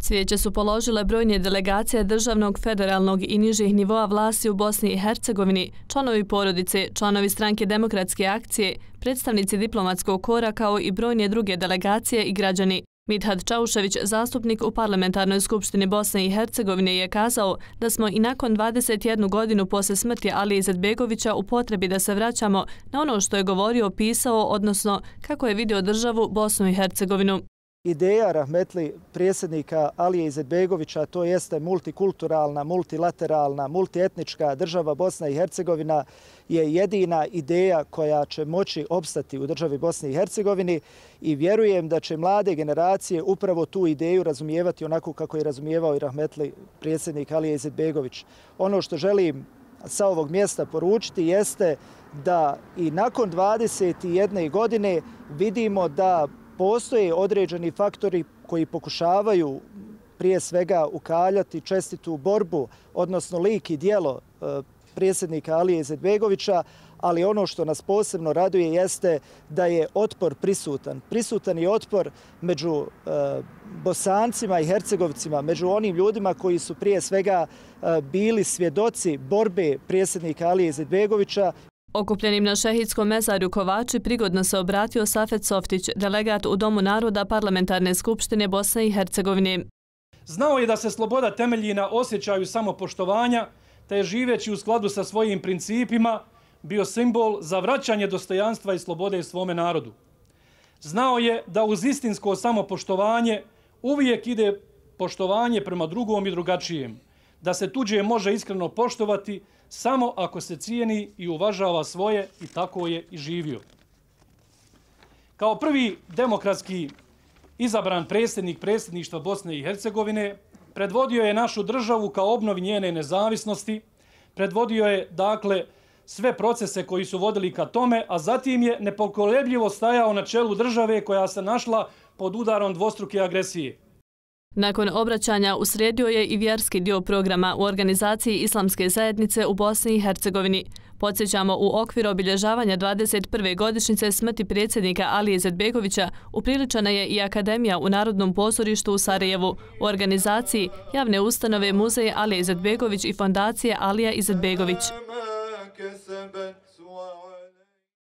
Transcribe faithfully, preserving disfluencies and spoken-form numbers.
Cvijeće su položile brojne delegacije državnog, federalnog i nižih nivoa vlasti u Bosni i Hercegovini, članovi porodice, članovi stranke Demokratske akcije, predstavnici diplomatskog kora kao i brojne druge delegacije i građani. Midhat Čaušević, zastupnik u Parlamentarnoj skupštini Bosne i Hercegovine, je kazao da smo i nakon dvadeset jednu godinu posle smrti Alije Izetbegovića u potrebi da se vraćamo na ono što je govorio, pisao, odnosno kako je vidio državu Bosnu i Hercegovinu. Ideja rahmetli predsjednika Alije Izetbegovića, to jeste multikulturalna, multilateralna, multietnička država Bosna i Hercegovina, je jedina ideja koja će moći opstati u državi Bosne i Hercegovini i vjerujem da će mlade generacije upravo tu ideju razumijevati onako kako je razumijevao i rahmetli predsjednik Alije Izetbegović. Ono što želim sa ovog mjesta poručiti jeste da i nakon dvadeset jedne godine vidimo da postoje određeni faktori koji pokušavaju prije svega ukaljati čestitu borbu, odnosno lik i djelo predsjednika Alije Izetbegovića, ali ono što nas posebno raduje jeste da je otpor prisutan. Prisutan je otpor među Bosancima i Hercegovcima, među onim ljudima koji su prije svega bili svjedoci borbe predsjednika Alije Izetbegovića. Okupljenim na Šehidskom mezarju Kovači prigodno se obratio Safet Softić, delegat u Domu naroda Parlamentarne skupštine Bosne i Hercegovine. Znao je da se sloboda temelji na osjećaju samopoštovanja, te je živeći u skladu sa svojim principima bio simbol za vraćanje dostojanstva i slobode svome narodu. Znao je da uz istinsko samopoštovanje uvijek ide poštovanje prema drugom i drugačijem, da se tuđe može iskreno poštovati samo ako se cijeni i uvažava svoje, i tako je i živio. Kao prvi demokratski izabran predsjednik predsjedništva Bosne i Hercegovine, predvodio je našu državu kao obnovi njene nezavisnosti, predvodio je, dakle, sve procese koji su vodili ka tome, a zatim je nepokolebljivo stajao na čelu države koja se našla pod udarom dvostruke agresije. Nakon obraćanja uslijedio je i vjerski dio programa u organizaciji Islamske zajednice u Bosni i Hercegovini. Podsjećamo, u okviru obilježavanja dvadeset prve godišnjice smrti predsjednika Alije Izetbegovića upriličena je i Akademija u Narodnom pozorištu u Sarajevu u organizaciji javne ustanove Muzej Alije Izetbegović i fondacije Alija Izetbegović.